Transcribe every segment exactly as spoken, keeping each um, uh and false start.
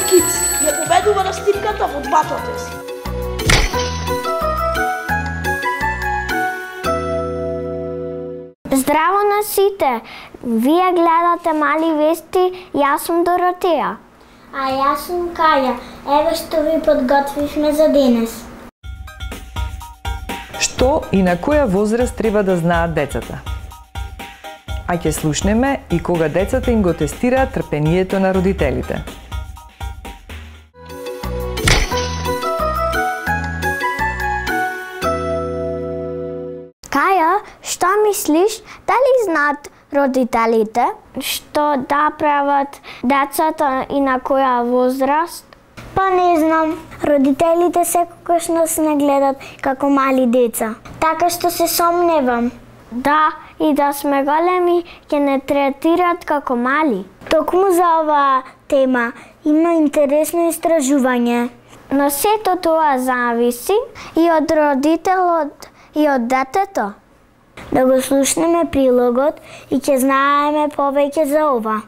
Киц ја победува на стипката во двата тест. Здраво на сите! Вие гледате Мали вести, јас сум Доротеја. А јас сум Каја. Еве што ви подготвивме за денес. Што и на која возраст треба да знаат децата? А ќе слушнеме и кога децата им го тестираат трпението на родителите. Каја, што мислиш, дали знаат родителите што да прават децата и на која возраст? Па не знам, родителите секогаш нас не гледат како мали деца. Така што се сомневам. Да, и да сме големи, ќе не третираат како мали. Токму за оваа тема има интересно истражување. Но сето тоа зависи и од родителот и од детето. Да го слушнеме прилогот и ќе знаеме повеќе за ова.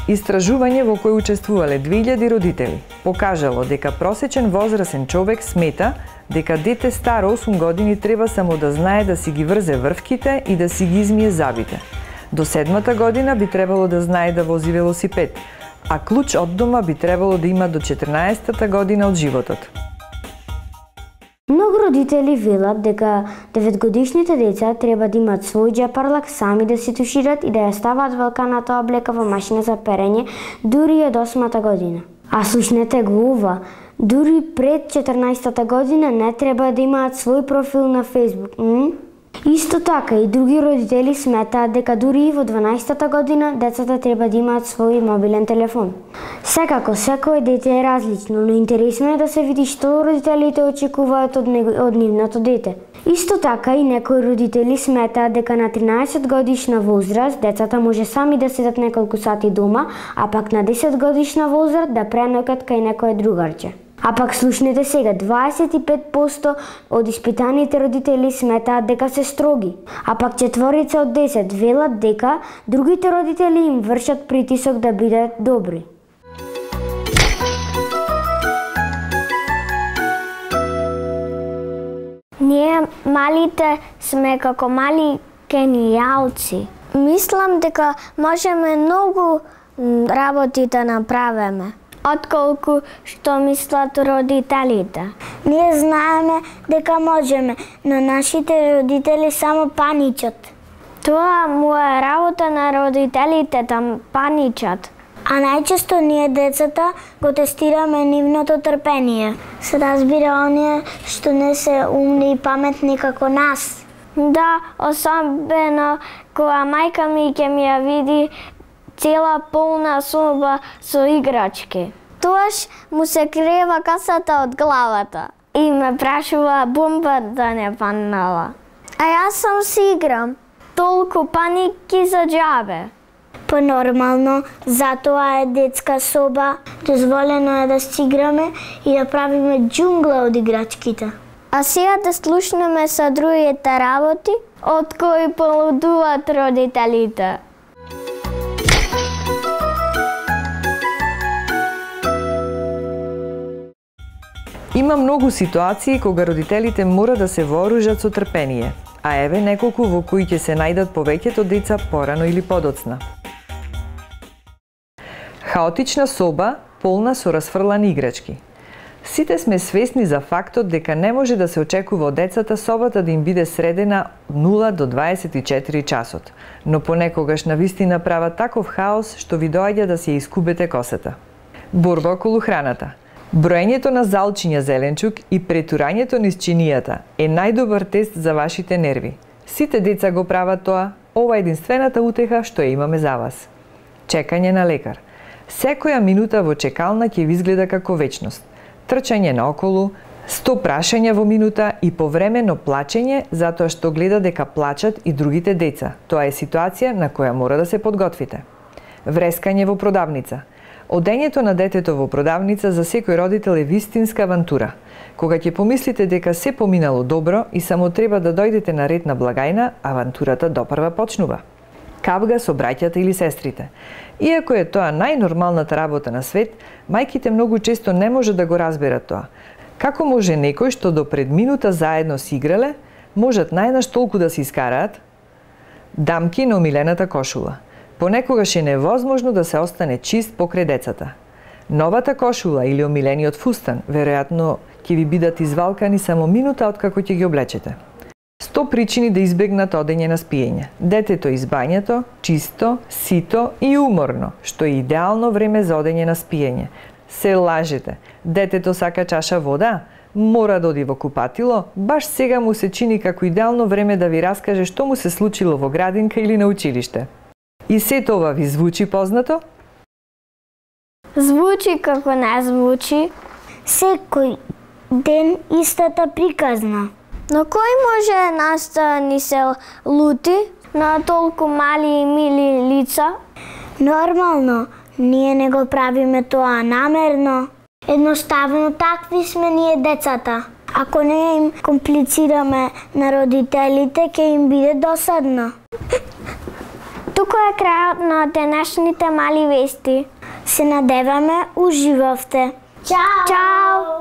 Истражување во кој учествувале две илјади родители покажало дека просечен возрасен човек смета дека дете старо осум години треба само да знае да си ги врзе врвките и да си ги измие забите. До седмата година би требало да знае да вози велосипед, а клуч од дома би требало да има до четрнаесеттата година од животот. Многу родители велат дека деветгодишните деца треба да имаат свој џепарлак, сами да се тушират и да ја ставаат велканата облека во машина за перење дури од осмата година. А слушнете го ова, дури пред четрнаесеттата година не треба да имаат свој профил на Facebook. М? Исто така и други родители сметаат дека дури и во дванаесеттата година децата треба да имаат свој мобилен телефон. Секако, секој дете е различно, но интересно е да се види што родителите очекуваат од, него, од нивното дете. Исто така и некои родители сметаат дека на тринаесет годишна возраст децата може сами да седат неколку сати дома, а пак на десет годишна возраст да преноќат кај некое другарче. А пак слушнете сега, дваесет и пет проценти од испитаните родители сметаат дека се строги, а пак четворица од десет велат дека другите родители им вршат притисок да бидат добри. Ние малите сме како мали генијалци. Мислам дека можеме многу работи да направиме, отколку што мислат родителите. Ние знаеме дека можеме, но нашите родители само паничат. Тоа му е работа на родителите да паничат. А најчесто ние децата го тестираме нивното трпение. Се разбира оние што не се умни и паметни како нас. Да, особено кога мајка ми ќе ми ја види цела полна соба со играчки. Тоаш му се крева касата од главата и ме прашува бомба да не паднала. А јас сам си играм. Толку паники за џабе. Понормално, затоа е детска соба. Дозволено е да си играме и да правиме џунгла од играчките. А сега да слушнеме со другите работи од кои полудуваат родителите. Има многу ситуации кога родителите мора да се вооружат со трпение, а еве неколку во кои ќе се најдат повеќето деца порано или подоцна. Хаотична соба, полна со расфрлани играчки. Сите сме свесни за фактот дека не може да се очекува од децата собата да им биде средена од нула до дваесет и четири часот, но понекогаш навистина прават таков хаос што ви доаѓа да се искубете косата. Борба околу храната. Броењето на залчиња зеленчук и претурањето низ чинијата е најдобар тест за вашите нерви. Сите деца го прават тоа, ова е единствената утеха што ја имаме за вас. Чекање на лекар. Секоја минута во чекална ќе ви изгледа како вечност. Трчање наоколу, сто прашања во минута и повремено плачење затоа што гледа дека плачат и другите деца. Тоа е ситуација на која мора да се подготвите. Врескање во продавница. Одењето на детето во продавница за секој родител е вистинска авантура. Кога ќе помислите дека се поминало добро и само треба да дојдете на ред на благајна, авантурата допрва почнува. Капга со браќата или сестрите. Иако е тоа најнормалната работа на свет, мајките многу често не може да го разберат тоа. Како може некој што до пред минута заедно си играле, можат најнаш толку да се искараат? Дамки на омилената кошула. Понекогаш е невозможно да се остане чист покрај децата. Новата кошула или омилениот фустан, веројатно, ќе ви бидат извалкани само минута откако ќе ги облечете. сто причини да избегнат одење на спиење. Детето из бањето, чисто, сито и уморно, што е идеално време за одење на спиење. Се лажете. Детето сака чаша вода? Мора да оди во купатило? Баш сега му се чини како идеално време да ви раскаже што му се случило во градинка или на училиште. И сето ова ви звучи познато? Звучи како не звучи. Секој ден истата приказна. Но кој може нас да ни се лути на толку мали и мили лица? Нормално, ние не го правиме тоа намерно. Едноставно такви сме ние децата. Ако не им комплицираме на родителите, ќе им биде досадно. Тука е крајот на денешните мали вести. Се надеваме уживавте. Чао! Чао!